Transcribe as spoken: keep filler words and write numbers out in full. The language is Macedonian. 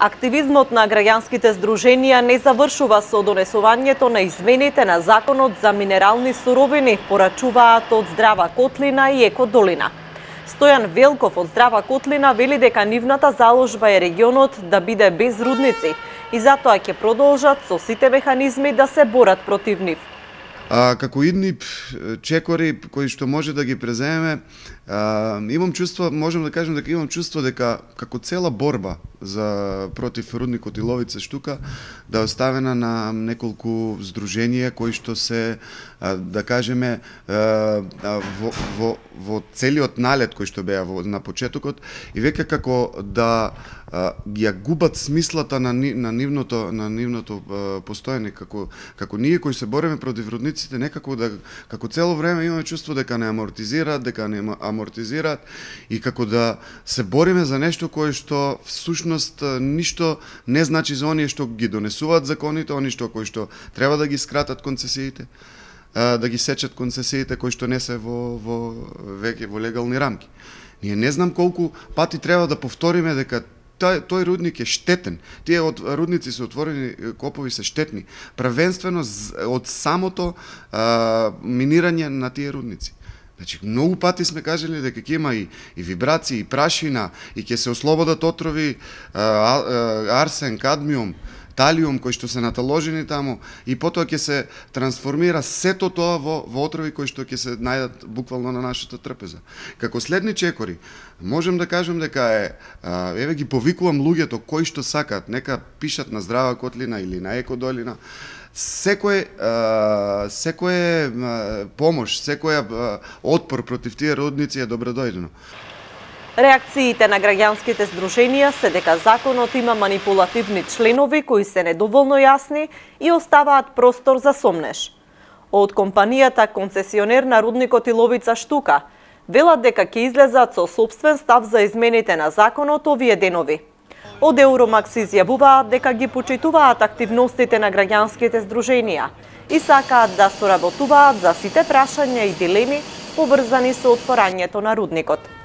Активизмот на граѓанските здруженија не завршува со донесувањето на измените на Законот за минерални суровини, порачуваат од Здрава Котлина и Еко Долина. Стојан Велков од Здрава Котлина вели дека нивната заложба е регионот да биде без рудници и затоа ќе продолжат со сите механизми да се борат против нив. А, како идни чекори кои што може да ги преземеме, а, имам чувство, можам да кажем дека имам чувство дека како цела борба за против рудникот и Ловица штука да е оставена на неколку здруженија кои што се, а, да кажеме, а, во, во, во целиот налет кој што беа во, на почетокот и веќе како да а, ги ја губат смислата на, на нивното на нивното а, постоење, како како ние кои се бориме против рудниците, некако да како цело време имаме чувство дека не амортизираат, дека не амортизираат и како да се бориме за нешто кое што всушност ништо не значи за оние што ги донесуваат законите, оние што кои што треба да ги скратат концесиите, да ги сечат концесиите кои што не се во во веќе во легални рамки. Ние не знам колку пати треба да повториме дека Тој, тој рудник е штетен. Тие од рудници се отворени копови се штетни. Првенствено од самото а, минирање на тие рудници. Значи, многу пати сме кажали дека ќе има и, и вибрации, и прашина, и ќе се ослободат отрови а, а, арсен, кадмиум, талиум кои што се наталожени таму и потоа ќе се трансформира сето тоа во, во отрови кои што ќе се најдат буквално на нашата трпеза. Како следни чекори, можем да кажем дека е, а, еве ги повикувам луѓето кои што сакаат, нека пишат на Здрава Котлина или на Еко Долина, секој а, секој а, помош, секој а, отпор против тие рудници е добредојдено. Реакциите на граѓанските здруженија се дека законот има манипулативни членови кои се недоволно јасни и оставаат простор за сомнеж. Од компанијата концесионер на рудникот и Ловица штука велат дека ќе излезат со сопствен став за измените на законот овие денови. Од Евромакс изјавуваат дека ги почитуваат активностите на граѓанските здруженија и сакаат да соработуваат за сите прашања и дилеми поврзани со отворањето на рудникот.